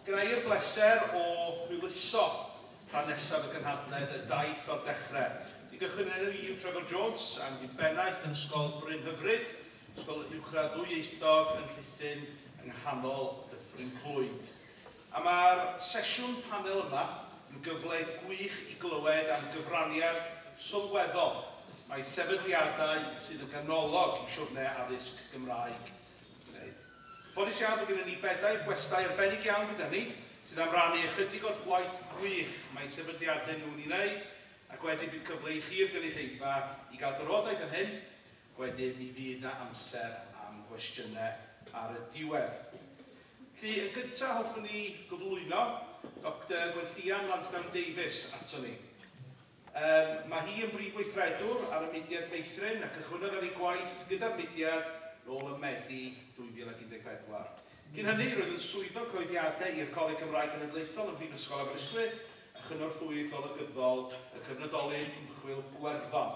Gyda i'r bleser o hwyluso rhan nesaf y gynhadledd, y daith o'r dechrau. Ti'n gychwyn yn enw i yw Trevor Jones, am fi'n bennaeth yn Ysgol Brynhyfryd, ysgol uwchradd ddwyieithog yn Rhuthun yng nghanol Dyffryn Clwyd. A mae'r sesiwn panel yma yn gyfle gwych i glywed am gyfraniad sylweddol mae sefydliadau sydd yn ganolog i siwrne addysg Gymraeg wneud. Ffodus iawn bod gennym ni bedair gwestai arbennig iawn gyda ni, sydd am rannu ychydig o'r gwaith gwych mae sefydliadau nhw'n ei wneud, ac wedyn bydd cyfle i chi'r gynulleidfa i gael drafodaeth am hyn, ac wedyn mi fydd na amser am gwestiynau ar y diwedd. Felly, yn gyntaf hoffwn ni gyflwyno Dr Gwenllian Lansdown Davies ato ni. Mae hi yn brif weithredwr ar y mudiad Meithrin a cychwynnodd ar ei gwaith gyda'r mudiad nôl ym Medi 2014. Cyn hynny, roedd yn swyddog cyhoeddiadau i'r Coleg Cymraeg Cenedlaethol ym Mhrifysgol Aberystwyth a chynorthwyydd golygyddol y cyfnodolyn ymchwil Gwerddon.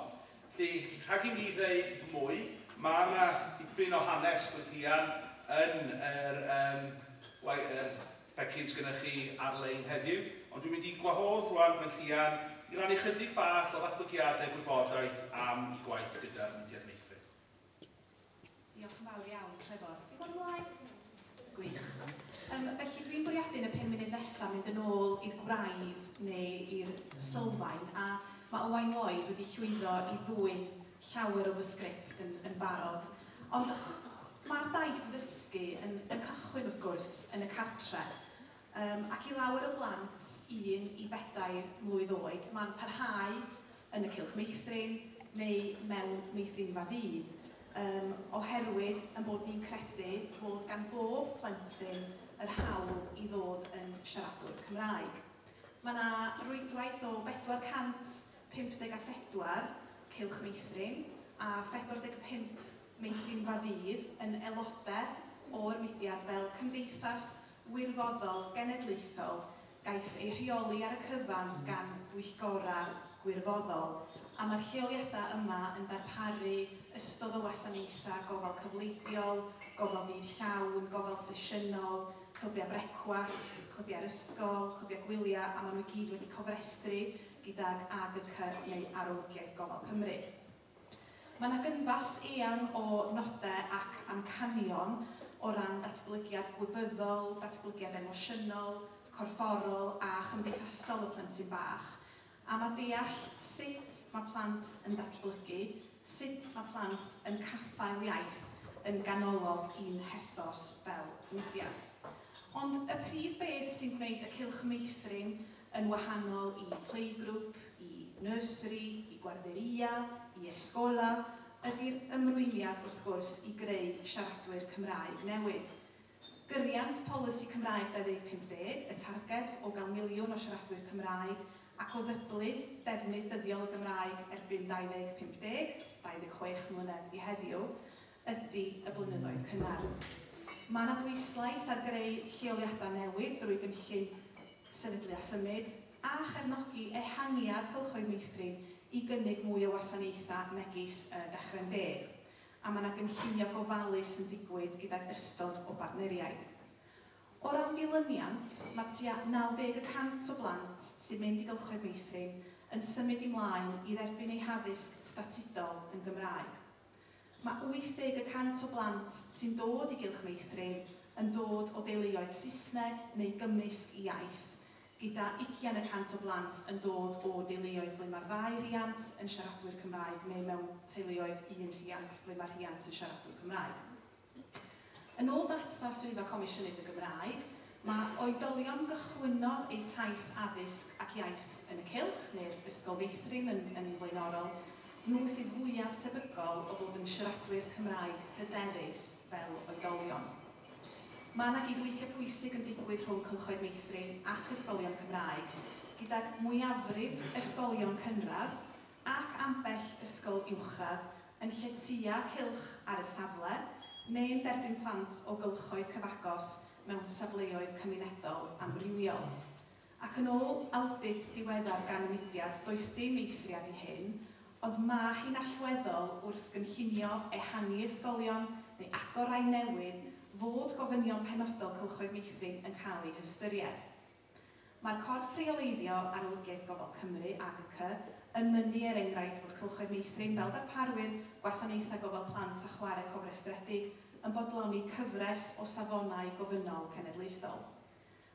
Felly, rhag i mi ddeud mwy, mae yna dipyn o hanes Gwenllian yn yr, um, yr pecyn sgynnoch chi ar-lein heddiw, ond dwi'n mynd i gwahodd rwan Gwenllian i rannu chydig bach o ddatblygiadau gwybodaeth am ei gwaith gyda'r mudiad Meithrin. Diolch yn fawr iawn, Trevor. Di bod ymlaen? Gwych. Felly dwi'n bwriadu yn y 5 munud nesaf mynd yn ôl i'r gwraidd neu i'r sylfaen, a mae Owain Lloyd wedi llwyddo i ddwyn llawer o fy sgript yn barod. Ond mae'r daith ddysgu yn cychwyn, wrth gwrs, yn y cartre. Ac i lawer o blant 1 i 4 mlwydd oed, mae'n parhau yn y cylch meithrin neu mewn meithrinfa ddydd, oherwydd yn bod ni'n credu fod gan bob plentyn yr hawl i ddod yn siaradwr Cymraeg. Mae yna rwydwaith o 454 cylch meithrin a 45 meithrinfa ddydd yn aelodau o'r mudiad fel cymdeithas wirfoddol genedlaethol gaiff ei rheoli ar y cyfan gan bwyllgorau gwirfoddol, a mae'r lleoliadau yma yn darparu ystod o wasanaethau gofal cyfleidiol, gofal dydd llawn, gofal sesiynol, clybiau brecwast, clybiau'r ysgol, clybiau gwyliau, a maen nhw i gyd wedi cofrestru gydag AGC neu Arolygiaeth Gofal Cymru. Mae yna gynfas eang o nodau ac amcanion o ran datblygiad gwybyddol, datblygiad emosiynol, corfforol a chymdeithasol y plentyn bach. A mae deall sut mae plant yn datblygu, sut mae plant yn caffael iaith yn ganolog i'n hethos fel mudiad. Ond y prif beth sy'n gwneud y cylch meithrin yn wahanol i playgroup, i nursery, i guarderia, i escola, ydy'r ymrwymiad wrth gwrs i greu siaradwyr Cymraeg newydd. Gyriant polisi Cymraeg 2050, y targed o gael 1 miliwn o siaradwyr Cymraeg ac o ddyblu defnydd dyddiol y Gymraeg erbyn 2050, 26 mlynedd i heddiw, ydy y blynyddoedd cynnar. Mae yna bwyslais ar greu lleoliadau newydd drwy gynllun sefydlu a symud a chefnogi ehangiad cylchoedd meithrin i gynnig mwy o wasanaethau megis Dechrau'n Deg. A mae yna gynllunio gofalus yn digwydd gydag ystod o bartneriaid. O ran dilyniant, mae tua 90% o blant sy'n mynd i gylchoedd meithrin yn symud ymlaen i dderbyn eu haddysg statudol yn Gymraeg. Mae 80% o blant sy'n dod i gylch meithrin yn dod o deuluoedd Saesneg neu gymysg iaith, gyda 20% o blant yn dod o deuluoedd ble mae'r ddau riant yn siaradwyr Cymraeg neu mewn teuluoedd un rhiant ble mae'r rhiant yn siaradwyr Cymraeg. Yn ôl data Swyddfa Comisiynydd y Gymraeg, mae oedolion gychwynnodd eu taith addysg ac iaith yn y cylch, neu'r ysgol feithrin yn flaenorol, nhw sydd fwyaf tebygol o fod yn siaradwyr Cymraeg hyderus fel oedolion. Mae yna gydweithio pwysig yn digwydd rhwng cylchoedd meithrin ac ysgolion Cymraeg, gydag mwyafrif ysgolion cynradd ac ambell ysgol uwchradd yn lletya cylch ar y safle neu'n derbyn plant o gylchoedd cyfagos mewn safleoedd cymunedol amrywiol. Ac yn ôl audit diweddar gan y mudiad, does dim eithriad i hyn, ond mae hi'n allweddol wrth gynllunio ehangu ysgolion neu agor rai newydd fod gofynion penodol cylchoedd meithrin yn cael eu hystyried. Mae'r corff rheoleiddio Arolygiaeth Gofal Cymru, AGC, yn mynnu er enghraifft fod cylchoedd meithrin fel darparwyr gwasanaethau gofal plant a chwarae cofrestredig yn bodloni cyfres o safonau gofynnol cenedlaethol.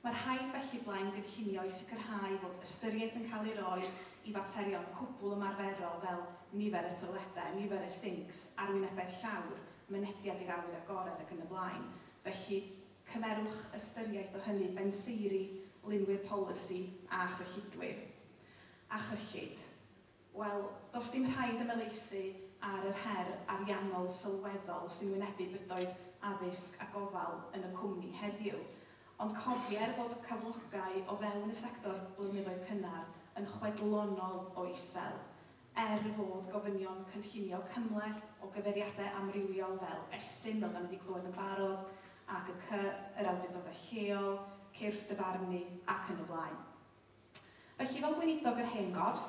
Mae rhaid felly blaen gynllunio i sicrhau fod ystyriaeth yn cael ei roi i faterion cwbl ymarferol fel nifer y toiledau, nifer y sinks, arwynebedd llawr, mynediad i'r awyr agored ac yn y blaen. Felly, cymerwch ystyriaeth o hynny benseiri, lunwyr polisi a chyllidwyr. A chyllid. Wel, does dim rhaid ymhelaethu ar yr her ariannol sylweddol sy'n wynebu bydoedd addysg a gofal yn y cwmni heddiw. Ond cofier fod cyflogau o fewn y sector blynyddoedd cynnar yn chwedlonol o isel, er fod gofynion cynllunio cymhleth o gyfeiriadau amrywiol fel Estyn, fel da ni wedi clywed yn barod, AGC, yr awdurdodau lleol, cyrff dyfarnu ac yn y blaen. Felly, fel gweinidog yr hen gorff,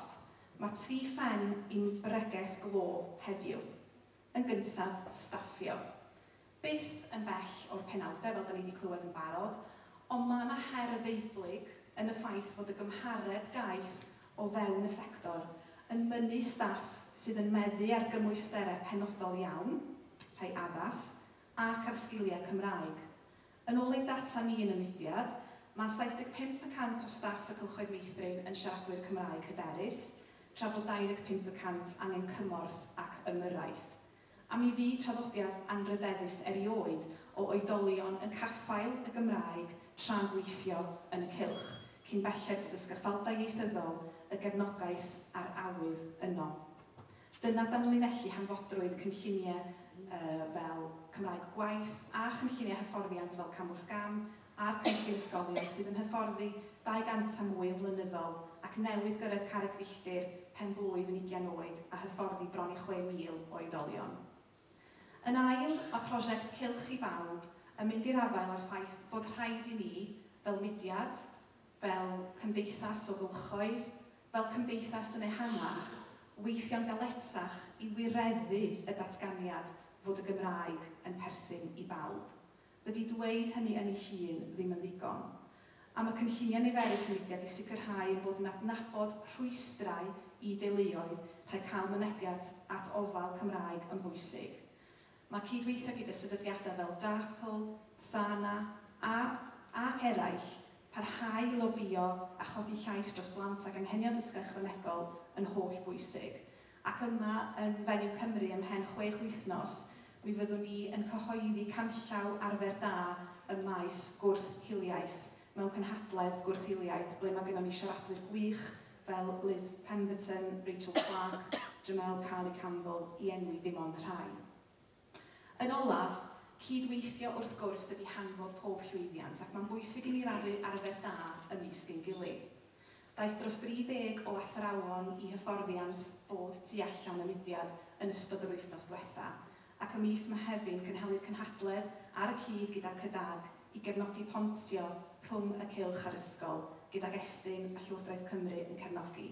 mae tri phen i'n bregeth glo heddiw. Yn gyntaf, staffio. Byth yn bell o'r penawdau, fel da ni wedi clywed yn barod, ond mae yna her ddeublyg yn y ffaith fod y gymhareb gaeth o fewn y sector yn mynnu staff sydd yn meddu ar gymwysterau penodol iawn, rhai addas, ac ar sgiliau Cymraeg. Yn ôl ein data ni yn y mudiad, mae 75% o staff y cylchoedd meithrin yn siaradwyr Cymraeg hyderus, tra bod 25% angen cymorth ac ymyrraeth. A mi fu traddodiad anrydeddus erioed o oedolion yn caffael y Gymraeg tra'n gweithio yn y cylch, cyn belled fod y sgaffaldau ieithyddol, y gefnogaeth a'r awydd yno. Dyna danlinellu hanfodrwydd cynlluniau fel Cymraeg Gwaith a chynlluniau hyfforddiant fel Cam wrth Gam a'r cynllun ysgolion sydd yn hyfforddi 200 a mwy yn flynyddol ac newydd gyrraedd carreg filltir pen blwydd yn 20 oed a hyfforddi bron i 6,000 o oedolion. Yn ail, mae prosiect Cylch i Bawb yn mynd i'r afael â'r ffaith fod rhaid i ni, fel mudiad, fel cymdeithas o gylchoedd, fel cymdeithas yn ehangach, weithio'n galetach i wireddu y datganiad fod y Gymraeg yn perthyn i bawb. Dydy dweud hynny yn ei hun ddim yn ddigon. A mae cynlluniau niferus y mudiad i sicrhau ein bod yn adnabod rhwystrau i deuluoedd rhag cael mynediad at ofal Cymraeg yn bwysig. Mae cydweithio gyda sefydliadau fel DAPL, TSANA ac eraill parhau i lobïo a chodi llais dros blant ag anghenion dysgu ychwanegol yn holl bwysig. Ac yma yn Fenyw Cymru ymhen 6 wythnos, mi fyddwn ni yn cyhoeddi canllaw arfer da ym maes gwrth-hiliaeth mewn cynhadledd gwrth-hiliaeth ble mae gennym ni siaradwyr gwych fel Liz Pemberton, Rachel Clark, Jamel Carly Campbell, i enwi dim ond rhai. Yn olaf, cydweithio wrth gwrs ydy hanfod pob llwyddiant ac mae'n bwysig i ni rannu arfer da ymysg ein gilydd. Daeth dros 30 o athrawon i hyfforddiant bod tu allan y mudiad yn ystod yr wythnos diwetha, ac ym mis Mehefin cynhelir cynhadledd ar y cyd gyda CYDAG i gefnogi pontio rhwng y cylch a'r ysgol, gydag Estyn a Llywodraeth Cymru yn cefnogi.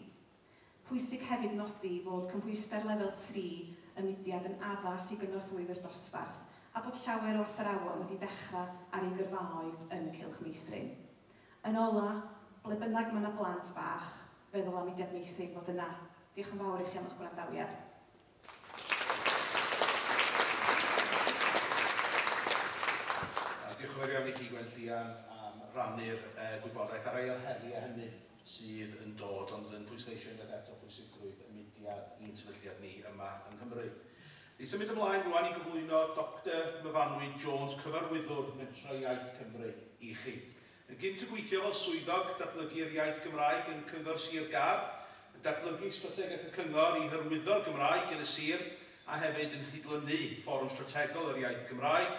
Pwysig hefyd nodi fod cymhwyster lefel 3 y mudiad yn addas i gynorthwywyr dosbarth a bod llawer o athrawon wedi dechrau ar eu gyrfaoedd yn y cylch meithrin. Yn ola, ble bynnag mae yna blant bach, feddwl am mudiad meithrin fod yna. Diolch yn fawr i chi am eich gwrandawiad. Diolch yn fawr iawn i chi, Gwenllian, am rannu'r gwybodaeth ar rai o'r heriau hynny sydd yn dod, ond yn pwysleisio unwaith eto pwysigrwydd y mudiad i'n sefydliad ni yma yng Nghymru. Ni symud ymlaen rwan i gyflwyno Dr Myfanwy Jones, cyfarwyddwr Mentrau Iaith Cymru i chi. Yn gynt yn gweithio fel swyddog datblygu'r iaith Gymraeg yn Cyngor Sir Gâr, yn datblygu strategaeth y Cyngor i hyrwyddo'r Gymraeg yn y sir a hefyd yn chydlynu Fforwm Strategol yr Iaith Gymraeg.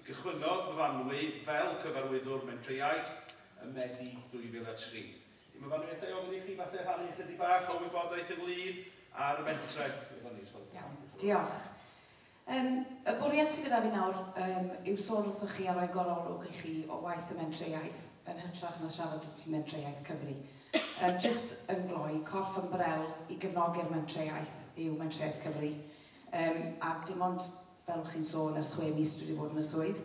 Gychwynnodd Myfanwy fel cyfarwyddwr Mentrau Iaith ym Medi 2003. Myfanwy, allai ofyn i chi falle rhannu ychydig bach o wybodaeth ynglyn â'r mentrau? Iawn, diolch. Y bwriad sydd gyda fi nawr yw sôn wrthoch chi a rhoi gorolwg i chi o waith y Mentrau Iaith yn hytrach na siarad wrth Mentrau Iaith Cymru. Just yn gloi, corff ymbrel i gefnogi'r Mentrau Iaith yw Mentrau Iaith Cymru. A dim ond, fel chi'n sôn, ers 6 mis dwi wedi bod yn y swydd.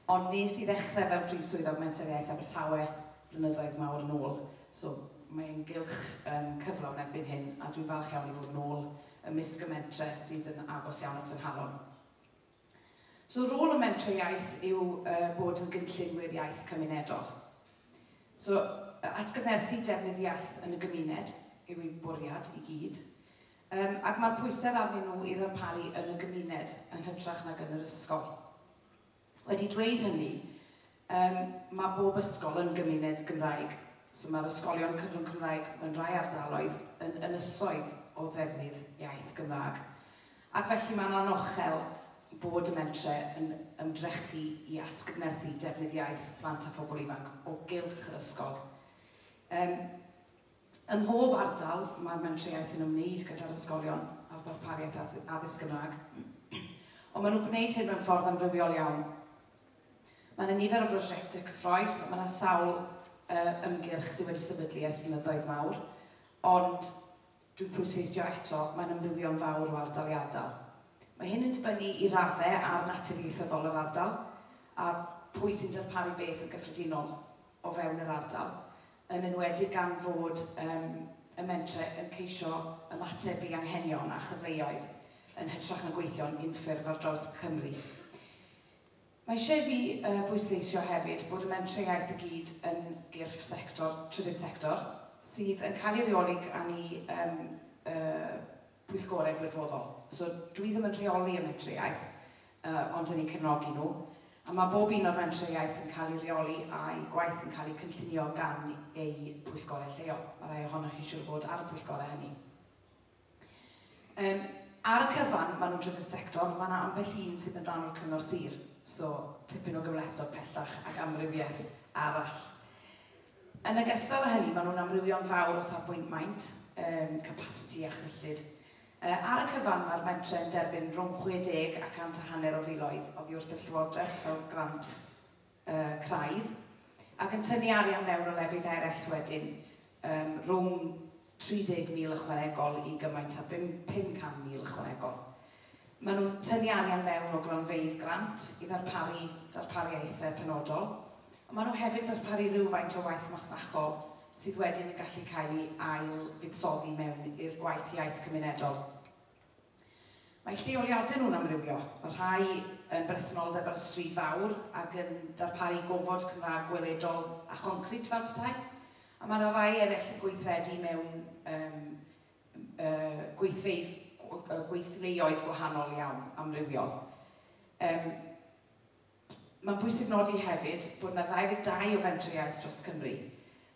Ond nes i ddechrau fel Prif Swyddog Menter Iaith Abertawe blynyddoedd mawr yn ôl. So mae'n gylch cyflawn erbyn hyn, a dwi'n falch iawn i fod yn ôl ymysg y mentre sydd yn agos iawn at fy nghalon. So rôl y Mentrau Iaith yw bod yn gynllunwyr iaith cymunedol. So atgyfnerthu defnydd iaith yn y gymuned yw ei bwriad i gyd. Ac mae'r pwysau arnyn nhw i ddarparu yn y gymuned yn hytrach nag yn yr ysgol. Wedi dweud hynny, mae bob ysgol yn gymuned Gymraeg. So mae'r ysgolion cyfrwng Cymraeg mewn rhai ardaloedd yn ynysoedd o ddefnydd iaith Gymraeg. Ac felly mae'n anochel bod y mentre yn ymdrechu i atgyfnerthu defnydd iaith plant a phobl ifanc o gylch yr ysgol. Ym mhob ardal, mae'r mentre iaith yn ymwneud gyda'r ysgolion a'r ddarpariaeth addysg Gymraeg. Ond maen nhw'n gwneud hyn mewn ffordd amrywiol iawn. Mae yna nifer o brosiectau cyffrous, mae yna sawl ymgyrch sydd wedi sefydlu ers blynyddoedd mawr, ond dwi'n pwysleisio eto, mae'n amrywio'n fawr o ardal i ardal. Mae hyn yn dibynnu i raddau ar natur ieithyddol yr ardal a pwy sy'n darparu beth yn gyffredinol o fewn yr ardal, yn enwedig gan fod y mentre yn ceisio ymateb i anghenion a chyfleoedd yn hytrach na gweithio'n unffurf ar draws Cymru. Mae eisiau fi bwysleisio hefyd bod y mentre iaith i gyd yn gyrff sector, trydydd sector, sydd yn cael ei reoli gan ei pwyllgorau gwirfoddol. So dwi ddim yn rheoli y mentre iaith, ond yn eu cefnogi nhw. A mae bob un o'r mentre iaith yn cael ei reoli a'i gwaith yn cael ei cynllunio gan ei pwyllgorau lleol. Mae rai ohonoch chi siŵr fod ar y pwyllgorau hynny. Ar y cyfan, maen nhw'n trydydd sector, mae yna ambell un sydd yn rhan o'r cyngor sir. So, tipyn o gymhlethdod pellach ac amrywiaeth arall. Yn ogystal â hynny, maen nhw'n amrywio'n fawr o safbwynt maint, capacity a chyllid. Ar y cyfan, mae'r mentre yn derbyn rhwng 60 a 150 o filoedd oddi wrth y Llywodraeth fel grant craidd, ac yn tynnu arian mewn o lefydd eraill wedyn, rhwng 30,000 ychwanegol i gymaint â 500,000 ychwanegol. Maen nhw'n tynnu arian mewn o gronfeydd grant i ddarparu darpariaethau penodol, ond maen nhw hefyd yn darparu rhywfaint o waith masnachol sydd wedyn yn gallu cael ei ail fuddsoddi mewn i'r gwaith iaith cymunedol. Mae lleoliadau nhw'n amrywio. Mae rhai yn bresenoldeb ar y stryd fawr ac yn darparu gofod Cymraeg gweledol a choncrit fel petai. A mae yna rai eraill yn gweithredu mewn gweithfeydd, gweithleoedd gwahanol iawn, amrywiol. Mae'n bwysig nodi hefyd bod yna 22 o fentrau iaith dros Cymru.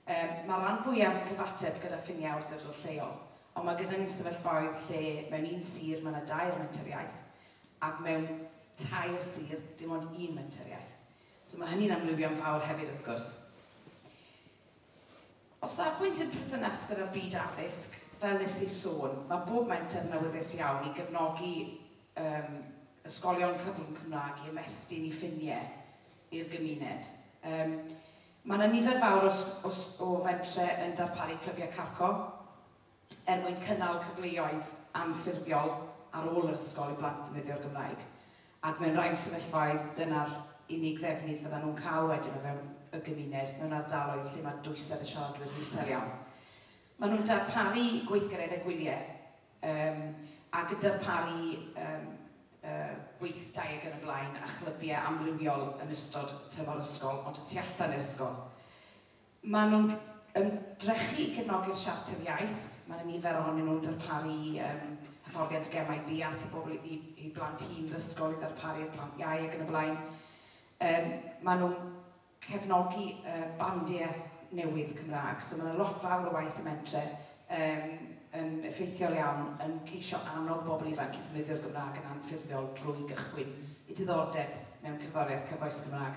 Mae rhan fwyaf yn cyfateb gyda ffiniau awdurdod lleol, ond mae gyda ni sefyllfaoedd lle mewn un sir mae yna 2 menter iaith, ac mewn 3 sir dim ond 1 menter iaith. So mae hynny'n amrywio'n fawr hefyd wrth gwrs. O safbwynt yn perthynas gyda'r byd addysg, fel nes i sôn, mae bob menter yn awyddus iawn i gefnogi ysgolion cyfrwng Cymraeg i ymestyn i ffiniau i'r gymuned. Mae yna nifer fawr o fentre yn darparu clybiau carco er mwyn cynnal cyfleoedd anffurfiol ar ôl yr ysgol i blant ddefnyddio'r Gymraeg. Ac mewn rhai sefyllfaoedd, dyna'r unig ddefnydd fyddan nhw'n cael wedyn o fewn y gymuned mewn ardaloedd lle mae dwysedd y siaradwyr isel iawn. Maen nhw'n darparu gweithgareddau gwyliau ac yn darparu gweithdai ac yn y blaen a chlybiau amrywiol yn ystod tymor ysgol, ond y tu allan i'r ysgol. Maen nhw'n ymdrechu i gefnogi'r siarter iaith. Mae yna nifer ohonyn nhw'n darparu hyfforddiant gemau buarth i bobl i blant hŷn yr ysgol, i ddarparu'r plant iau ac yn y blaen. Maen nhw'n cefnogi bandiau newydd Cymraeg, so mae yna lot fawr o waith y mentre yn effeithiol iawn yn ceisio annog bobl ifanc i ddefnyddio'r Gymraeg yn anffurfiol drwy gychwyn i diddordeb mewn cerddoriaeth cyfoes Gymraeg.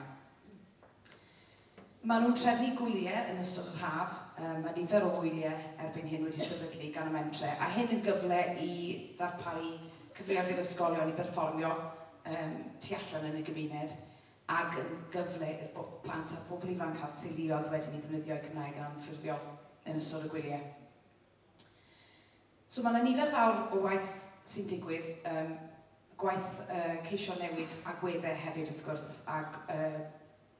Maen nhw'n trefnu gwyliau yn ystod yr haf. Mae nifer o wyliau erbyn hyn wedi sefydlu gan y mentre, a hyn yn gyfle i ddarparu cyfleoedd i'r ysgolion i berfformio tu allan yn y gymuned, ac yn gyfle i'r plant a phobl ifanc a'r teuluoedd wedyn i ddefnyddio'u Cymraeg yn anffurfiol yn ystod y gwyliau. So mae yna nifer fawr o waith sy'n digwydd. Gwaith ceisio newid agweddau hefyd wrth gwrs ac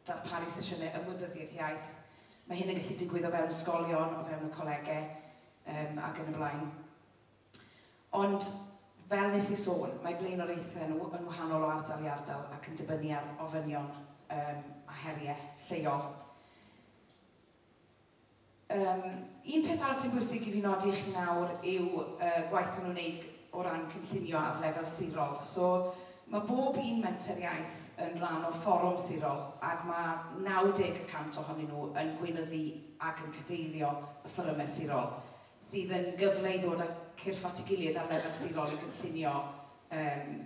darparu sesiynau ymwybyddiaeth iaith. Mae hyn yn gallu digwydd o fewn ysgolion, o fewn y colegau ac yn y blaen. Ond fel nes i sôn, mae blaenoriaethau nhw yn wahanol o ardal i ardal ac yn dibynnu ar ofynion a heriau lleol. Un peth arall sy'n bwysig i fi nodi i chi nawr yw gwaith maen nhw'n wneud o ran cynllunio ar lefel sirol. So, mae bob un menter iaith yn rhan o fforwm sirol ac mae 90% ohonyn nhw yn gweinyddu ac yn cadeirio y fforymau sirol, sydd yn gyfle i ddod â cyrff at ei gilydd ar lefel sirol i gynllunio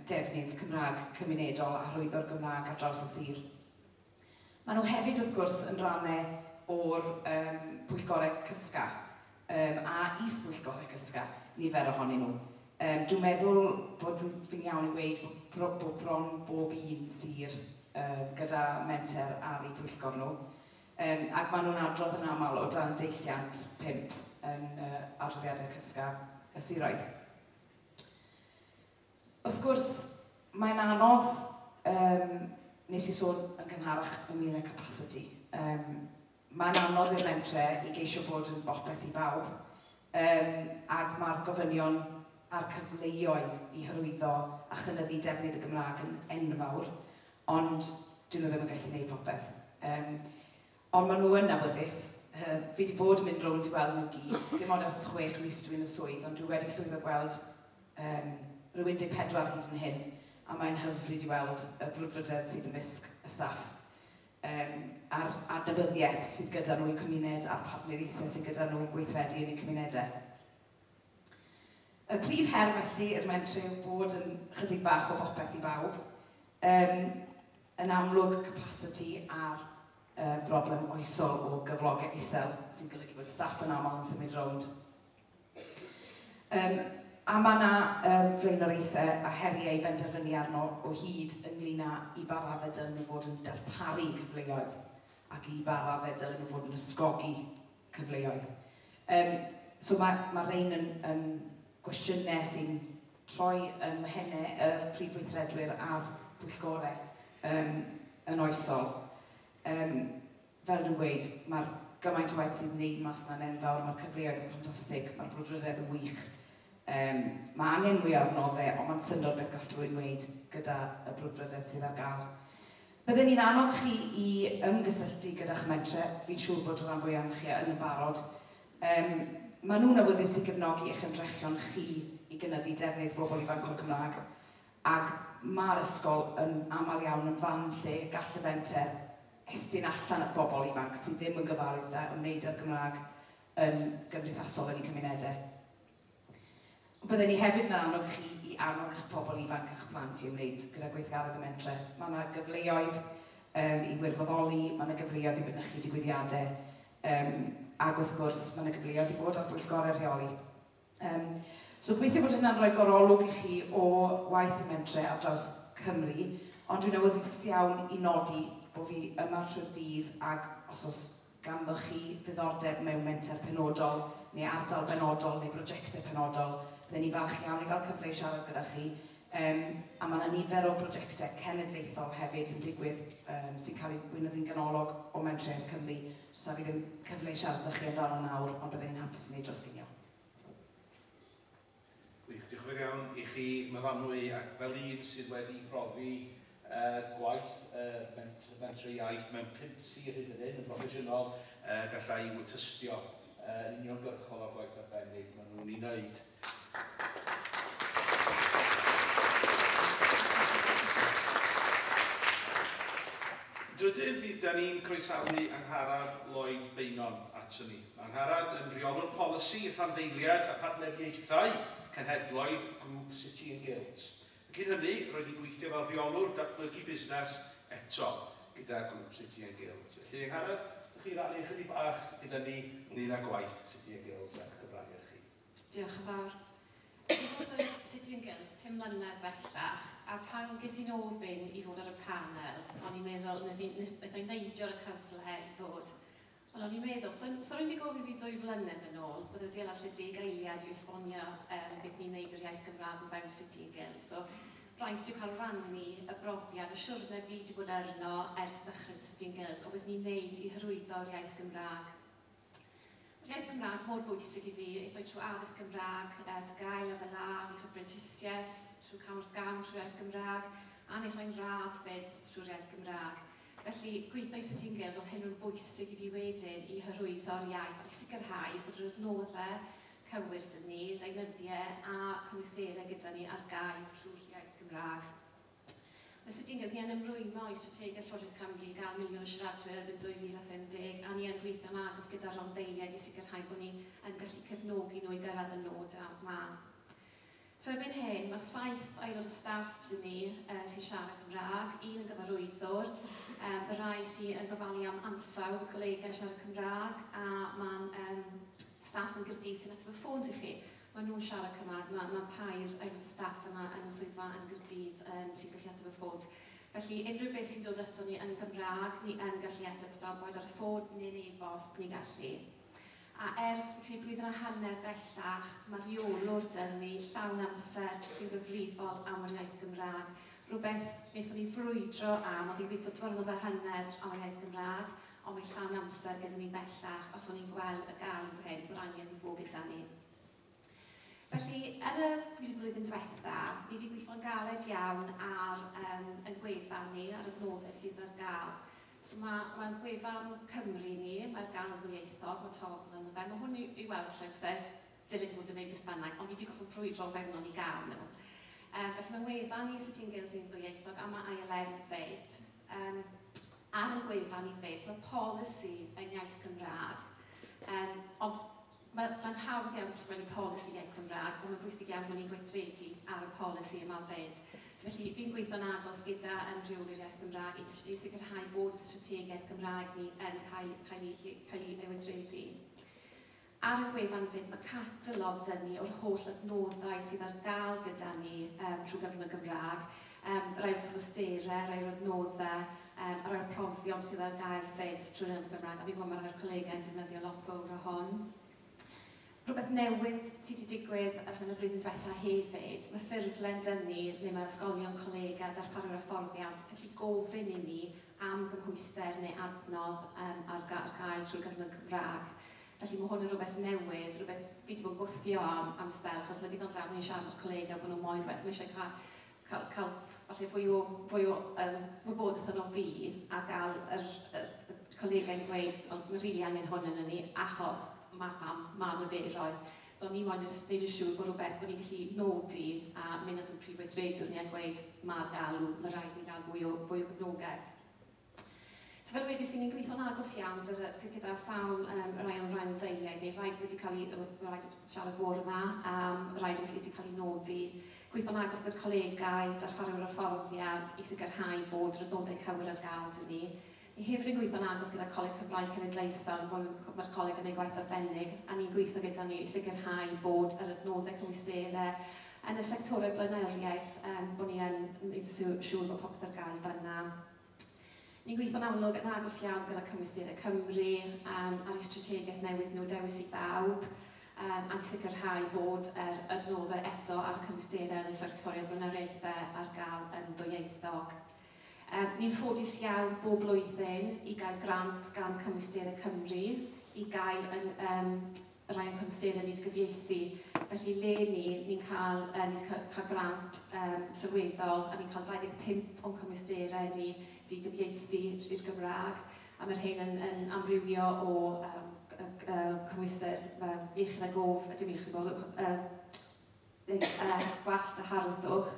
defnydd Cymraeg cymunedol a hyrwyddo'r Gymraeg ar draws y sir. Maen nhw hefyd, wrth gwrs, yn rhannau o'r pwyllgorau CYSGA a is-bwyllgorau CYSGA, nifer ohonyn nhw. Dwi'n meddwl bod fi'n iawn i weud bod bron bob un sir gyda menter ar eu pwyllgor nhw. Ac maen nhw'n adrodd yn aml o dan deilliant 5 yn adroddiadau CYSGA y siroedd. Wrth gwrs, mae'n anodd, nes i sôn yn gynharach ynglyn â capacity. Mae'n anodd i'r mentre i geisio bod yn bopeth i bawb, ac mae'r gofynion a'r cyfleoedd i hyrwyddo a chynyddu defnydd y Gymraeg yn enfawr, ond dyn nhw ddim yn gallu gwneud popeth. Ond maen nhw yn awyddus. Fi wedi bod yn mynd rownd i weld nhw gyd. Dim ond ers 6 mis dwi'n y swydd, ond dwi wedi llwyddo gweld rhyw 14 hyd yn hyn, a mae'n hyfryd i weld y brwdfrydedd sydd ymysg y staff. A'r adnabyddiaeth sydd gyda nhw i cymuned a'r partneriaethau sydd gyda nhw yn gweithredu yn eu cymunedau. Y prif her felly i'r mentre yw bod yn chydig bach o bopeth i bawb. Yn amlwg capacity a'r broblem oesol o gyflogau isel sy'n golygu bod staff yn aml yn symud rownd. A mae yna flaenoriaethau a heriau i benderfynu arno o hyd ynglyn â i ba raddau dylen nhw fod yn darparu cyfleoedd ac i ba raddau dylen nhw fod yn ysgogi cyfleoedd. So mae rhain yn gwestiynau sy'n troi ym mhennau y prif weithredwyr a'r pwyllgorau yn oesol. Fel dwi'n gweud, mae'r gymaint o waith sy'n wneud mas yna'n enfawr, mae'r cyfleoedd yn ffantastig, mae'r brwdfrydedd yn wych. Mae angen mwy o adnoddau, ond mae'n syndod beth gall rhywun wneud gyda y brwdfrydedd sydd ar gael. Byddwn ni'n annog chi i ymgysylltu gyda'ch mentre, fi'n siŵr bod y rhan fwyaf ohonoch chi yn y barod. Maen nhw'n awyddus i gefnogi eich ymdrechion chi i gynyddu defnydd bobl ifanc o'r Gymraeg, ac mae'r ysgol yn aml iawn yn fan lle gall y fenter estyn allan at bobl ifanc sydd ddim yn gyfarwydd â ymwneud â'r Gymraeg yn gymdeithasol yn eu cymunedau. Byddwn ni hefyd yn annog chi i annog eich pobl ifanc a'ch plant i ymwneud gyda gweithgaredd y mentre. Mae yna gyfleoedd i wirfoddoli, mae yna gyfleoedd i fynychu digwyddiadau, ac wrth gwrs mae yna gyfleoedd i fod ar bwyllgorau rheoli. So gobeithio bod hynna'n rhoi gorolwg i chi o waith y mentre ar draws Cymru, ond dwi'n awyddus iawn i nodi bod fi yma trwy'r dydd ac os oes ganddoch chi ddiddordeb mewn menter penodol neu ardal benodol neu brosiectau penodol, bydden ni falch iawn i gael cyfle i siarad gyda chi. A mae yna nifer o brosiectau cenedlaethol hefyd yn digwydd sy'n cael eu gweinyddu'n ganolog o Menter Iaith Cymru. So fi ddim cyfle i siarad â chi amdano nawr, ond bydden ni'n hapus i wneud dros ginio. Gwych, diolch yn fawr iawn i chi, Myfanwy, ac fel un sydd wedi profi gwaith Menter Iaith mewn 5 sir hyd yn hyn yn broffesiynol, gallai tystio yn uniongyrchol o'r gwaith arbennig maen nhw'n ei wneud. Drydydd, da ni'n croesawu Angharad Lloyd Beynon ato ni. Angharad yn rheolwr polisi, rhanddeiliad a partneriaethau cenhedloedd Grŵp City and Guilds. Cyn hynny, roedd hi'n gweithio fel rheolwr datblygu busnes eto gyda Grŵp City and Guilds. Felly, Angharad, ydych chi rannu chydig bach gyda ni ynglyn â gwaith City and Guilds a'ch cyfraniad chi? Diolch yn fawr. Dwi wedi bod yn City and Guilds 5 mlynedd bellach, a pan ges i'n ofyn i fod ar y panel, o'n i'n meddwl, wnaeth i'n neidio ar y cyfle i ddod. Ond o'n i'n meddwl, so rwy'n wedi gofyn fi 2 flynedd yn ôl, byddai wedi hala 10 eiliad i esbonio beth ni'n neud yr iaith Gymraeg o fewn City and Guilds. So, Braint yw cael rannu y brofiad, y siwrne fi wedi bod arno ers dechrau City and Guilds, o beth ni'n neud i hyrwyddo'r iaith Gymraeg. Mae'r iaith Gymraeg mor bwysig i fi, aethoi trwy addysg Gymraeg, TGAU, lefel A, wnaeth o brentisiaeth, trwy cam wrth gam trwy'r iaith Gymraeg, a wnaeth o'n radd fyd trwy'r iaith Gymraeg. Felly, gweithio i City and Guilds, oedd hyn yn bwysig i fi wedyn i hyrwyddo'r iaith a i sicrhau bod yr adnoddau cywir dyn ni, deunyddiau a cymwysterau gyda ni ar gael trwy'r iaith Gymraeg. Mae City and Guilds, ni yn ymrwymo i strategaeth Llywodraeth Cymru i gael 1 miliwn o siaradwyr erbyn 2050, a ni yn gweithio'n agos gyda rhanddeiliaid i sicrhau bod ni yn gallu cefnogi nhw i gyrraedd y nod yma. So erbyn hyn, mae 7 aelod o staff sydd ni sy'n siarad Cymraeg, un yn gyfarwyddwr, y rai sy'n yn gofalu am ansawdd y colegau siarad Cymraeg, a mae'n staff yn Gaerdydd sy'n ateb y ffôns i chi. Maen nhw'n siarad Cymraeg, mae 3 aelod o staff yma yn y swyddfa yn Gaerdydd sy'n gallu ateb y ffôn. Felly unrhyw beth sy'n dod ato ni yn Gymraeg, ni yn gallu ateb, boed ar y ffôn neu'n e-bost, ni gallu. A ers felly blwyddyn a hanner bellach, mae rheolwr dyn ni llawn amser sy'n gyfrifol am yr iaith Gymraeg. Rhywbeth wnaethon ni frwydro am, oedd hi'n gweithio 2.5 am yr iaith Gymraeg, ond mae llawn amser gyda ni bellach, os o'n i'n gweld y galw hyn, bod angen i fod gyda ni. Felly, yn y blwyddyn diwetha, ni wedi gweithio'n galed iawn ar ein gwefan ni, ar adnoddau sydd ar gael. So mae gwefan Cymru ni, mae'r gael yn ddwyieithog, mae togl ynddo fe. Mae hwn i weld lle bethau dilyn fod yn gwneud beth bynnag, ond ni wedi gorfod brwydro fewnol i gael nhw. Felly mae wefan ni City and Guilds yn ddwyieithog a mae ILN fyd. Ar y gwefan ni fyd, mae polisi yn iaith Gymraeg, ond mae'n hawdd iawn sgwennu polisi iaith Gymraeg, ond mae'n bwysig iawn bod ni'n gweithredu ar y polisi yma fyd. So felly fi'n gweithio'n agos gyda rheolwyr iaith Gymraeg i sicrhau bod y strategaeth Gymraeg ni yn cael ei weithredu. Ar y gwefan fyd, mae catalog dyn ni o'r holl adnoddau sydd ar gael gyda ni trwy gyfrwng y Gymraeg, rai o'r cymwysterau, rai o'r adnoddau, a rai o'r profion sydd ar gael fyd trwy'r Gymraeg, a fi'n gwybod mae rhai'r colegau yn defnyddio lot fawr o hwn. Rhywbeth newydd sydd wedi digwydd allan y blwyddyn diwetha hefyd, mae ffurflen dyn ni, neu mae ysgolion, colegau, darparwyr hyfforddiant gallu gofyn i ni am gymhwyster neu adnodd ar gael trwy'r gyfrwng Cymraeg. Felly mae hwn yn rhywbeth newydd, rhywbeth fi wedi bod yn gwthio am sbel, achos mae digon da bod ni'n siarad â'r colegau bod nhw'n moyn rhywbeth, mae eisiau cael falle fwy o wybodaeth yno fi a gael yr colegau'n gweud, mae rili angen hwn yn ni, achos mae pham, mae niferoedd. So ni moyn wneud yn siŵr bod rhywbeth bod ni'n gallu nodi a mynd at y prif weithredwr ni a gweud mae'r galw, mae rhaid ni gael fwy o gefnogaeth. So fel wedes i, ni'n gweithio'n agos iawn gyda sawl rai o'n rhanddeiliaid ni, rhaid wedi cael ei, rhaid siarad bore yma, rhaid wedi cael ei nodi. Gweithio'n agos gyda'r colegau, darparwyr hyfforddiant i sicrhau bod yr adnoddau cywir ar gael dyn ni. Ni hefyd yn gweithio'n agos gyda Coleg Cymraeg Cenedlaethol, mae'r coleg yn ei gwaith arbennig, a ni'n gweithio gyda ni i sicrhau bod yr adnoddau cymwysterau yn y sectorau blaenoriaeth, bod ni yn gwneud siŵr bod popeth ar gael fan'na. Ni'n gweithio'n amlwg yn agos iawn gyda Cymwysterau Cymru ar eu strategaeth newydd nhw Dewis i Bawb, a i sicrhau bod yr adnoddau eto ar y cymwysterau yn y sectoriau blaenoriaethau ar gael yn ddwyieithog. Ni'n ffodus iawn bob blwyddyn i gael grant gan Cymwysterau Cymru i gael rai o'n cymwysterau ni wedi gyfieithu. Felly le ni'n cael, cael grant sylweddol a ni'n cael 25 o'n cymwysterau ni wedi gyfieithu i'r Gymraeg. A mae'r hyn yn amrywio o cymwyster iechyd a gof, dim iechyd a gof, gwallt a harddwch,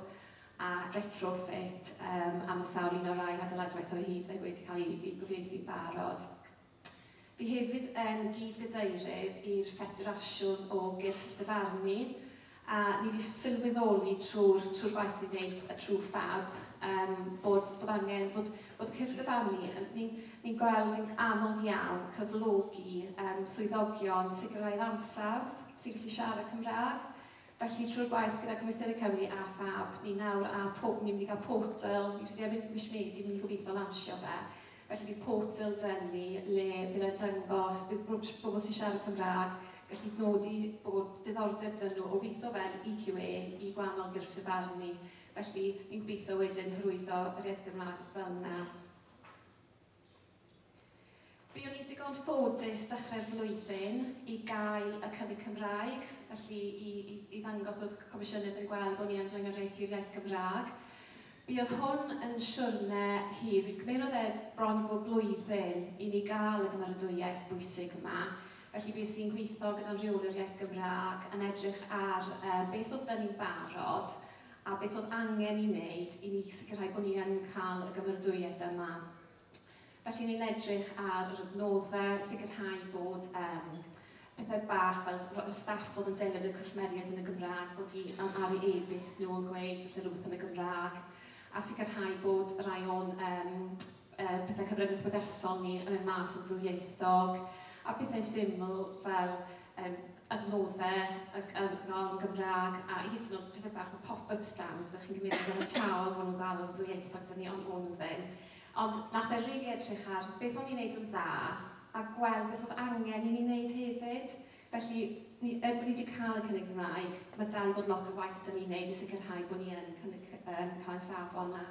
a retrofit, a mae sawl un o'r rai adeiladwaith o hyd wedi cael ei gyfieithu'n barod. Fi hefyd yn gyd-gadeirydd i'r Ffederasiwn o Gyrff Dyfarnu, a ni wedi sylweddoli trwy'r gwaith ni'n gwneud trwy FAB bod angen, bod cyrff dyfarnu, ni'n gweld yn anodd iawn cyflogi swyddogion sicrhau ansawdd sy'n gallu siarad Cymraeg. Felly trwy'r gwaith gyda Cymwysterau Cymru a FAB, ni nawr a ni'n mynd i gael portal, ni'n credu erbyn mis Medi, ni'n mynd i gobeithio lansio fe. Felly bydd portal dyn ni le bydd e'n dangos, bydd bobl sy'n siarad Cymraeg gallu nodi bod diddordeb dyn nhw o weithio fel EQA i gwahanol gyrff dyfarnu. Felly, ni'n gobeithio wedyn hyrwyddo yr iaith Gymraeg fel yna. Buon ni digon ffodus dechrau'r flwyddyn i gael y cynnig Cymraeg, felly i ddangos bod y Comisiynydd yn gweld bod ni yn flaenoriaethu'r iaith Gymraeg. Buodd hwn yn siwrne hir, mi gymerodd e bron i fod blwyddyn i ni gael y gymeradwyaeth bwysig yma. Felly bues i'n gweithio gyda'n rheolwr iaith Gymraeg yn edrych ar beth oedd 'da ni'n barod a beth oedd angen i wneud i ni sicrhau bod ni yn cael y gymeradwyaeth yma. Felly ni'n edrych ar yr adnoddau, sicrhau bod pethau bach fel y staff oedd yn delio 'da cwsmeriaid yn y Gymraeg, bod i ar eu e-byst nhw yn gweud falle rhywbeth yn y Gymraeg, a sicrhau bod rai o'n pethau cyfryngau cymdeithasol ni yn mynd mas yn ddwyieithog, a pethau syml fel adnoddau yn Gymraeg, a hyd yn oed pethau bach fel pop-up stands, fel chi'n gymryd yn ganiataol bod nhw'n gael yn ddwyieithog, dyn ni, ond o'n nhw ddim. Ond nath e rili edrych ar beth o'n i'n neud yn dda a gweld beth oedd angen i ni wneud hefyd. Felly, er bod ni wedi cael y cynnig Cymraeg, mae dal i fod lot o waith 'da ni'n neud i sicrhau bod ni yn cynnig, cael y safon 'na.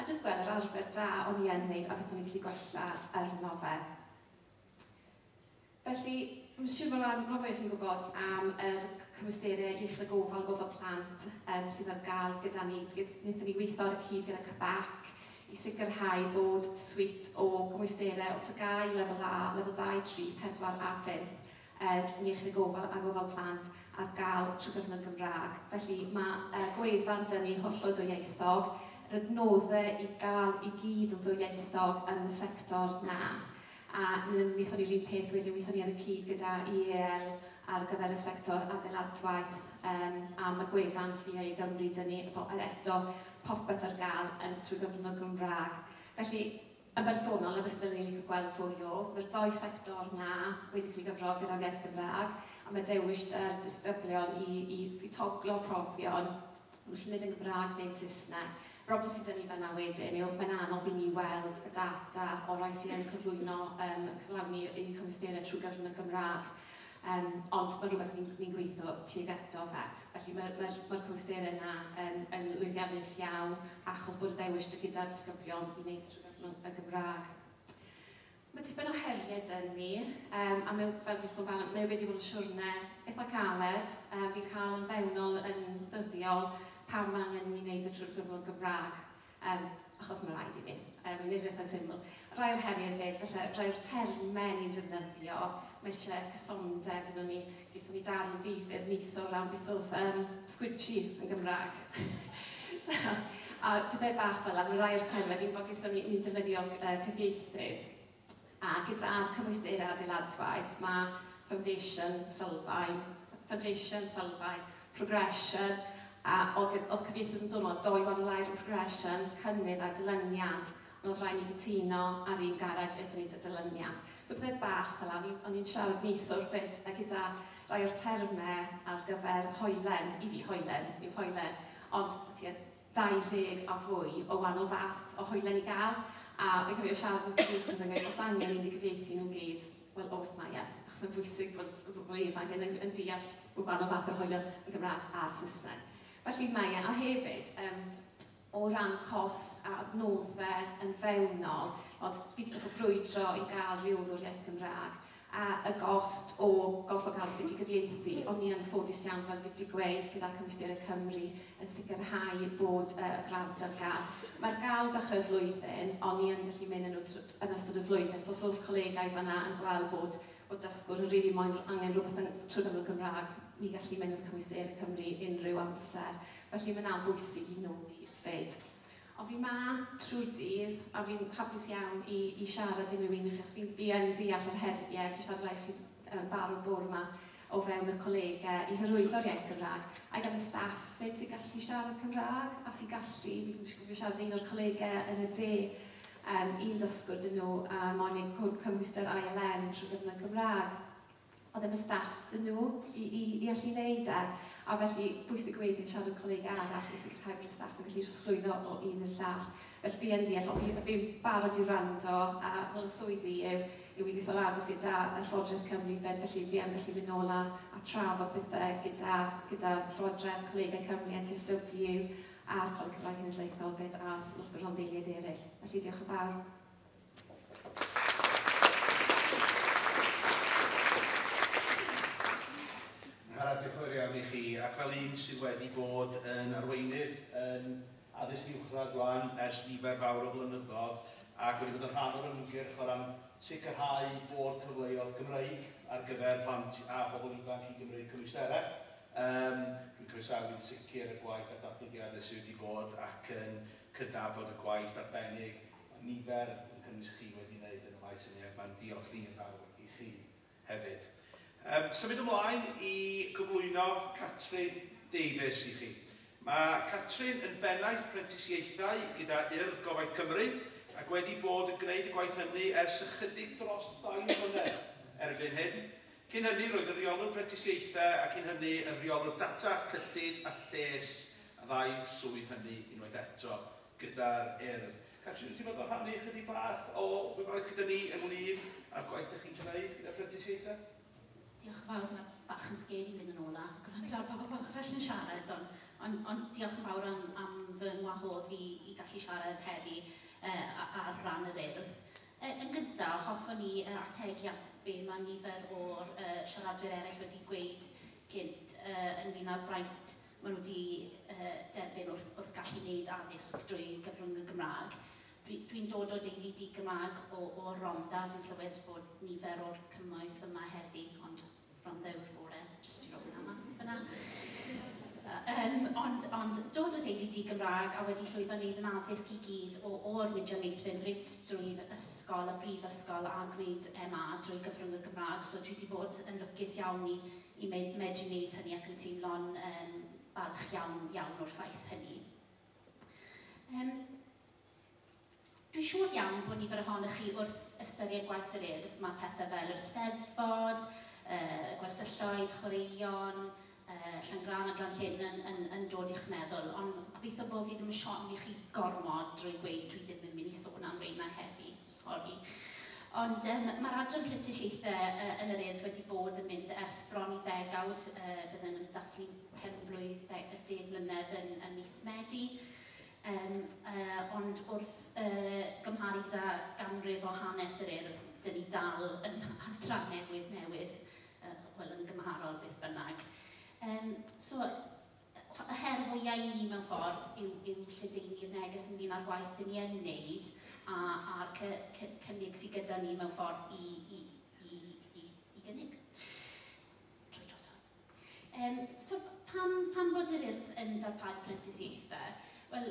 A jyst gweld yr arfer da o'n i yn neud a beth o'n i'n gallu gwella arno fe. Felly, mae'n siŵr bod rhan fwy chi'n gwybod am yr cymwysterau iechyd a gofal, gofal plant sydd ar gael gyda ni. Wnaethon ni weithio ar y cyd gyda CBAC i sicrhau bod suite o gymwysterau o TGAU, lefel A, lefel 2, 3, 4 a 5 yn iechyd a gofal a gofal plant ar gael trwy gyfrwng y Gymraeg. Felly mae gwefan 'da ni hollol ddwyieithog, yr adnoddau i gael i gyd yn ddwyieithog yn y sector 'na. A wnaethon ni'r un peth wedyn, wnaethon ni ar y cyd gyda EAL ar gyfer y sector adeiladwaith, a mae gwefan Sgiliau i Gymru 'da ni eto popeth ar gael yn trwy gyfrwng y Gymraeg. Felly, yn bersonol, na beth byddwn ni'n licio gweld fwy o, mae'r ddou sector 'na wedi cael ei gyfro gyda'r iaith Gymraeg, a mae dewis 'da'r disgyblion i toglo profion, nhw'n gallu gwneud yn Gymraeg neu'n Saesneg. Broblem sydd 'da ni fan'na wedyn yw mae'n anodd i ni weld y data o rai sydd yn cyflwyno, cyflawni eu cymwysterau trwy gyfrwng y Gymraeg. Ond mae rhywbeth ni'n gweithio tuag ato fe. Felly mae'r cymwysterau yna yn lwyddiannus iawn achos bod y dewis gyda disgyblion i wneud trwy gyfrwng y Gymraeg. Mae tipyn o heriau 'da ni, a mae, fel fi'n sôn fan, mae wedi bod yn siwrne eitha caled. Fi'n cael yn fewnol yn ddyddiol pam mae angen i ni wneud y trwy'r gyfrwng Gymraeg, achos mae rhaid i ni. Nid eitha syml. Rai o'r heriau hefyd, falle rai o'r termau ni'n defnyddio, mae eisiau cysondeb yn ni. Geson ni darn difyr neithiwr ran beth oedd squidgy yn Gymraeg. So, a pethau bach fel 'na, mae rai o'r termau, fi'n gwybod geson ni'n defnyddio cyfieithydd, a gyda'r cymwysterau adeiladwaith, mae foundation, sylfaen, foundation, sylfaen, progression, a oedd cyfieithydd yn dod o dou wahanol air yn progression, cynnydd a dilyniant, ond oedd rhaid ni gytuno ar un gair a aethon ni 'da dilyniant. So pethau bach fel 'na, o'n i'n siarad neithiwr 'fyd, a gyda rai o'r termau ar gyfer hoelen, i fi hoelen yw hoelen, ond tua 20 a fwy o wahanol fath o hoelen i gael, a fi'n cofio siarad â'r cyfieithydd yn gweud, os angen i ni gyfieithu nhw gyd, wel oes mae e, achos mae'n bwysig bod bobl ifanc yn deall bod gwahanol fath o hoelen yn Gymraeg a'r Saesneg. Felly mae e, a hefyd, o ran cost a adnoddau yn fewnol, ond fi wedi gorfod brwydro i gael rheolwr iaith Gymraeg, a y gost o gorfod cael fi wedi gyfieithu, o'n i yn ffodus iawn, fel fi wedi gweud, gyda Cymwysterau Cymru yn sicrhau bod y grant ar gael. Mae'r gael dechrau'r flwyddyn, o'n i yn gallu mynd yn nhw yn ystod y flwyddyn, so os oes colegau fan'na yn gweld bod dysgwr yn rili moyn angen rhywbeth yn trwy gyfrwng y Gymraeg, ni gallu mynd at Cymwysterau Cymru unrhyw amser. Felly mae 'na'n bwysig i nodi 'fyd. Ond fi 'ma trwy'r dydd, a fi'n hapus iawn i siarad unrhyw un i chi, achos fi yn deall yr heriau, dwi siarad rai chi barod bore yma o fewn y colegau i hyrwyddo'r iaith Gymraeg, a i gael y staff 'fyd sy'n gallu siarad Cymraeg, a sy'n gallu, fi'n siarad un o'r colegau yn y de, un dysgwr dyn nhw, a moyn eu cymhwyster ILM trwy gyfrwng y Gymraeg. Oedd ddim y staff dyn nhw i allu wneud e. A felly, bwysig wedyn siarad â colegau arall i sicrhau bod y staff yn gallu trosglwyddo o un i'r llall. Felly fi yn deall, ond fi'n barod i wrando, a fel y swydd fi yw i weithio'n agos gyda y Llywodraeth Cymru 'fyd, felly fi yn gallu mynd nôl a trafod pethau gyda Llywodraeth, Colegau Cymru, NTFW, a'r Coleg Cymraeg Cenedlaethol fyd a lot o rhanddeiliaid eraill. Felly diolch yn fawr. Angharad, diolch yn fawr iawn i chi, ac fel un sydd wedi bod yn arweinydd yn addysg uwchradd rwan ers nifer fawr o flynyddoedd ac wedi bod yn rhan o'r ymgyrch o ran sicrhau bod cyfleoedd Gymreig ar gyfer plant a phobl ifanc i gymryd cymwysterau. Dwi'n croesawu'n sicr y gwaith a datblygiadau sydd wedi bod ac yn cydnabod y gwaith arbennig nifer yn cynnwys chi wedi wneud yn y maes hynny, ac mae'n diolch ni yn fawr i chi hefyd. Symud ymlaen i gyflwyno Catrin Davies i chi. Mae Catrin yn bennaeth prentisiaethau gyda Urdd Gobaith Cymru ac wedi bod yn gwneud y gwaith hynny ers ychydig dros 2 mlynedd erbyn hyn. Cyn hynny roedd y rheolwr prentisiaethau a cyn hynny y rheolwr data, cyllid a lles, a ddau swydd hynny unwaith eto gyda'r Urdd. Catrin, wyt ti'n fodlon rhannu ychydig bach o wybodaeth gyda ni ynglyn â'r gwaith ydych chi'n gwneud gyda prentisiaethau? Diolch yn fawr, mae bach yn scary mynd yn ôl a gwrando ar bobl arall yn siarad, ond diolch yn fawr am fy ngwahodd i gallu siarad heddi ar ran yr Urdd. Yn gyntaf, hoffwn i ategu at be mae nifer o'r siaradwyr eraill wedi gweud gynt ynglyn â'r braint maen nhw wedi derbyn wrth gallu wneud addysg drwy gyfrwng y Gymraeg. Dwi'n dod o deulu di-Gymraeg o Rhondda. Fi'n clywed bod nifer o'r cymoedd yma heddi, ond Rhondda yw'r gorau, jyst i roi hwnna mas fyna. Ond dod o deulu di-Gymraeg a wedi llwyddo wneud yn addysg i gyd o'r Mudiad Meithrin reit drwy'r ysgol, y brifysgol a gwneud MA drwy gyfrwng y Gymraeg. So dwi wedi bod yn lwcus iawn i medru wneud hynny ac yn teimlo'n balch iawn iawn o'r ffaith hynny. Dwi'n siŵr iawn bod nifer ohonoch chi wrth ystyried gwaith yr Urdd. Mae pethau fel yr Eisteddfod, gwersylloedd, chwaraeon, Llangran a Glan Llyn yn dod i'ch meddwl, ond gobeithio bod fi ddim yn siomi chi gormod drwy gweud dwi ddim yn mynd i sôn am reina heddi, sori. Ond mae'r adran prentisiaethau yn yr Urdd wedi bod yn mynd ers bron i ddegawd, bydden yn dathlu 5 blwydd, 10 mlynedd yn mis Medi. Ond wrth gymharu gyda ganrif o hanes yr Urdd, dyn ni dal yn adran newydd, wel yn gymharol beth bynnag. So, y her fwyaf i ni mewn ffordd yw lledaenu'r neges ynglyn â'r gwaith dyn ni yn wneud a'r cynnig sydd gyda ni mewn ffordd i gynnig. Trwy drosodd. So, pam bod yr Urdd yn darparu prentisiaethau? Wel,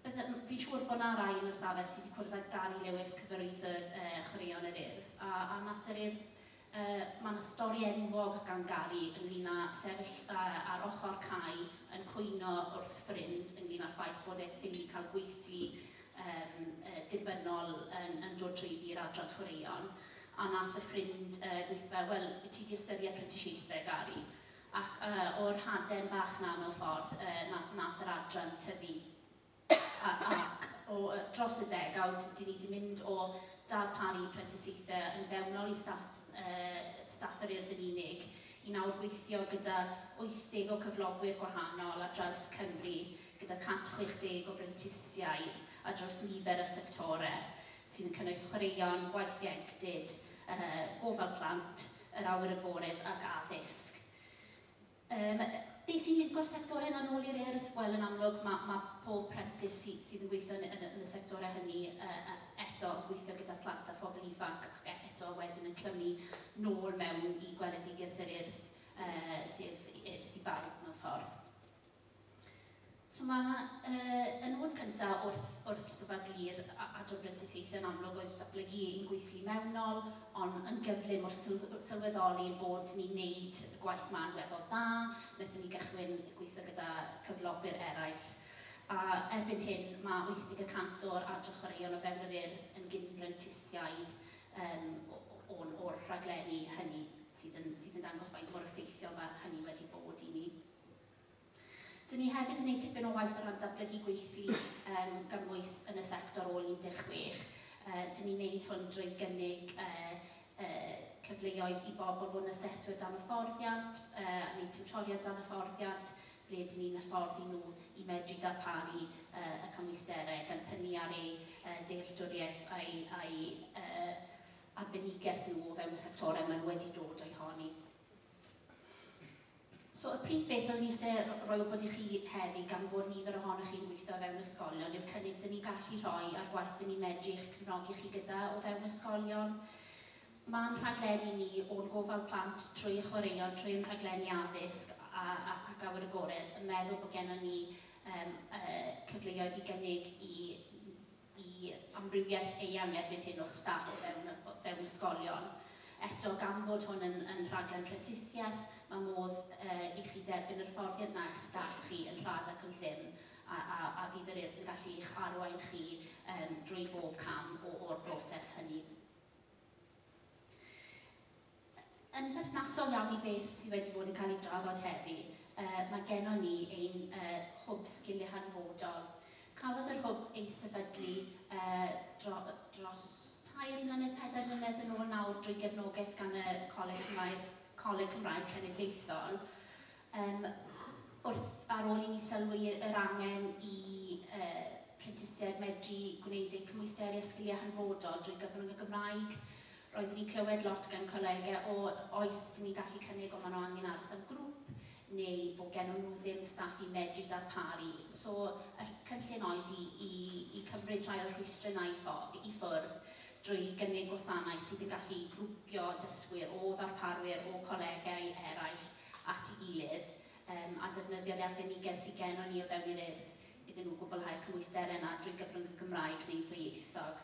fi'n siŵr bod yna rai yn y stafell sydd wedi cwrdd â Gary Lewis, cyfarwyddwr chwaraeon yr Urdd, a nath yr Urdd, mae yna stori enwog gan Gary ynglyn â sefyll ar ochr cae yn cwyno wrth ffrind ynglyn â'r ffaith bod e ffili cael gweithlu dibynnol yn dod trwyddi i'r adran chwaraeon. A nath y ffrind gweithio, wel, ti wedi ystyried prentisiaethau, Gary? Ac o'r haden bach na mewn ffordd, nath yr adran tyfu. Ac dros y degawd, dyn ni wedi mynd o darparu prentisiaethau yn fewnol i staff yr Urdd yn unig, i nawr gweithio gyda 80 o cyflogwyr gwahanol ar draws Cymru, gyda 160 o brentisiaid ar draws nifer o sectorau sydd yn cynnwys chwaraeon, gwaith ieuenctid, gofal plant, yr awyr agored ac addysg. Be sy'n lincio'r sectorau yna nôl i'r Urdd? Wel, yn amlwg, mae pob prentis sydd yn gweithio yn y sectorau hynny eto yn gweithio gyda plant a phobl ifanc ac eto wedyn yn clymu nôl mewn i gweledigaeth yr Urdd, sef Urdd i bawb mewn ffordd. So mae y nod cyntaf wrth sefydlu'r adran brentisiaethau yn amlwg oedd datblygu ein gweithlu mewnol, ond yn gyflym wrth sylweddoli bod ni'n neud y gwaith ma'n weddol dda, wnaethon ni gychwyn gweithio gyda cyflogwyr eraill. A erbyn hyn mae 80% o'r adran chwaraeon o fewn yr Urdd yn gyn-brentisiaid o'r rhaglenni hynny sydd yn dangos faint mor effeithiol mae hynny wedi bod i ni. Dyn ni hefyd yn gwneud tipyn o waith o ran datblygu gweithlu gymwys yn y sector ôl 16. Dyn ni'n gwneud hwn drwy gynnig cyfleoedd i bobl bod yn aseswyr dan hyfforddiant, neu tiwtoriaid dan hyfforddiant, ble dyn ni'n hyfforddi nhw i medru darparu y cymwysterau, gan tynnu ar eu dealltwriaeth a'i arbenigedd nhw o fewn y sectorau maen nhw wedi dod o'i honi. So, y prif beth oedd ni eisiau rhoi wybod i chi heddi, gan bod nifer ohonoch chi'n gweithio o fewn ysgolion, yw'r cynnig dyn ni gallu rhoi a'r gwaith dyn ni medru eich cefnogi chi gyda o fewn ysgolion. Mae'n rhaglenni ni o'n gofal plant trwy chwaraeon, trwy ein rhaglenni addysg ac awyr agored, yn meddwl bod gennym ni cyfleoedd i gynnig i amrywiaeth eang erbyn hyn o'ch staff o fewn ysgolion. Eto, gan fod hwn yn rhaglen prentisiaeth, mae modd i chi derbyn yr hyfforddiant na i'ch staff chi yn rhad ac yn ddim, a bydd yr Urdd yn gallu eich arwain chi drwy bob cam o'r broses hynny. Yn berthnasol iawn i beth sydd wedi bod yn cael ei drafod heddi, mae gennon ni ein hwb sgiliau hanfodol. Cafodd yr hwb ei sefydlu dros 3 mlynedd, 4 mlynedd yn ôl nawr drwy gefnogaeth gan y Coleg Cymraeg Cenedlaethol. Wrth ar ôl i ni sylwi yr angen i prentisiaid medru gwneud eu cymwysterau sgiliau hanfodol drwy gyfrwng y Gymraeg. Roeddwn ni'n clywed lot gan colegau o oes dyn ni'n gallu cynnig, ond maen nhw angen aros am grŵp neu bod gen nhw ddim staff i medru darparu. So, y cynllun oedd i cymryd rhai o'r rhwystrau yna i ffwrdd drwy gynnig gwasanaeth sydd yn gallu grwpio dysgwyr o ddarparwyr o colegau eraill at ei gilydd a defnyddio'r arbenigedd sydd gennon ni o fewn i'r Urdd iddyn nhw gwblhau'r cymwysterau yna drwy gyfrwng y Gymraeg neu ddwyieithog.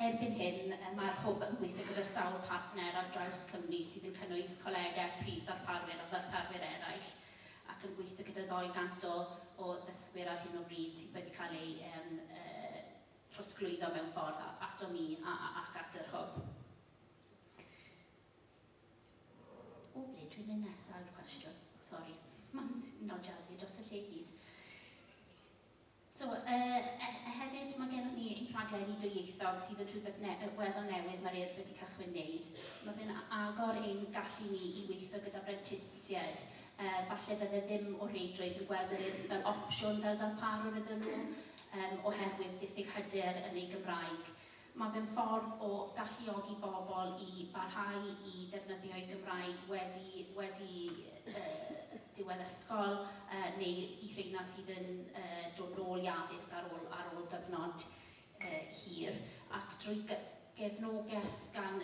Erbyn hyn, mae'r hwb yn gweithio gyda sawl partner ar draws Cymru sydd yn cynnwys colegau, prif ddarparwyr a ddarparwyr eraill, ac yn gweithio gyda 200 o ddysgwyr ar hyn o bryd sydd wedi cael eu trosglwyddo mewn ffordd ato ni ac at yr hwb. O, ble dwi'n mynd nesaf yw'r cwestiwn? Sori, mae'n nodiadau dros y lle i gyd. So, hefyd mae gennym ni ein rhaglenni dwyieithog sydd yn rhywbeth weddol newydd mae'r Urdd wedi cychwyn wneud. Mae fe'n agor ein gallu ni i weithio gyda brentisiaid. Falle fydde ddim o reidrwydd yn gweld yr Urdd fel opsiwn fel darparwr iddyn nhw, oherwydd diffyg hyder yn ei Gymraeg. Mae fe'n ffordd o galluogi bobl i barhau i ddefnyddio eu Gymraeg wedi diwedd ysgol neu i rheina sydd yn dod nôl i addysg ar ôl gyfnod hir. Ac drwy gefnogaeth gan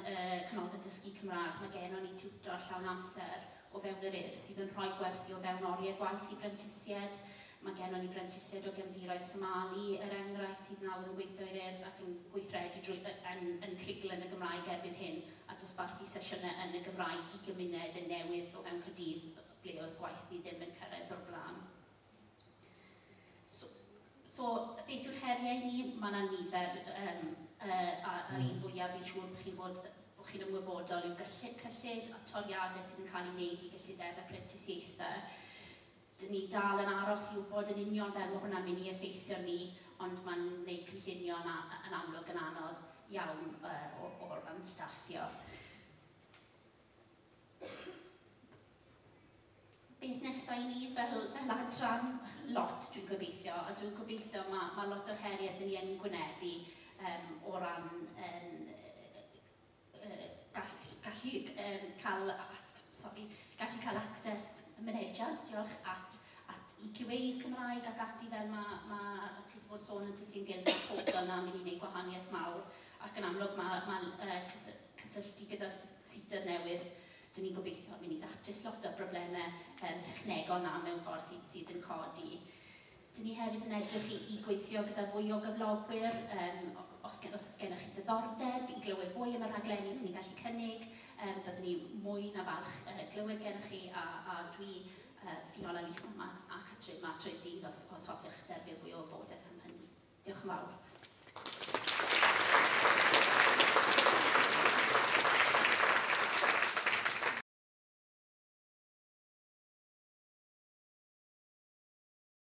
Canolfan Dysgu Cymraeg, mae gennon ni tiwtor llawn amser o fewn yr Urdd sydd yn rhoi gwersi o fewn oriau gwaith i brentisiaid. Mae gennon ni brentisiaid o gefndiroedd Somali, er enghraifft, sydd nawr yn gweithio i'r Urdd ac yn gweithredu yn rhugl yn y Gymraeg erbyn hyn a dosbarthu sesiynau yn y Gymraeg i gymuned yn newydd o fewn Caerdydd ble oedd gwaith ni ddim yn cyrraedd o'r blaen. So, beth yw'r heriau ni? Mae yna nifer, a'r un fwyaf fi'n siŵr bod chi'n ymwybodol yw cyllid a toriadau sydd yn cael ei wneud i gyllidebau prentisiaethau. Dyn ni dal yn aros i wybod yn union fel mae hwnna'n mynd i effeithio ni, ond mae'n gwneud cynllunio yn amlwg yn anodd iawn o ran staffio. Beth nesaf i ni fel adran? Lot, dwi'n gobeithio, a dwi'n gobeithio mae lot o'r heriau dyn ni yn gwynebu o ran gallu cael at, sorry, gallu cael access, mynediad, diolch, at EQAs Cymraeg ac ati fel mae chi wedi bod sôn yn City and Guilds a'r pobl yna mynd i wneud gwahaniaeth mawr, ac yn amlwg mae cysylltu gyda'r SETA newydd, dyn ni'n gobeithio mynd i ddatrys lot o'r broblemau technegol na mewn ffordd sydd yn codi. Dyn ni hefyd yn edrych i gweithio gyda fwy o gyflogwyr, os oes gennych chi diddordeb i glywed fwy am y rhaglenni dyn ni'n gallu cynnig, byddwn ni mwy na falch glywed gennych chi a dwi, Fiona, Lisa ma, a Catrin ma trwy'r dydd os hoffech derbyn fwy o wybodaeth am hynny. Diolch yn fawr.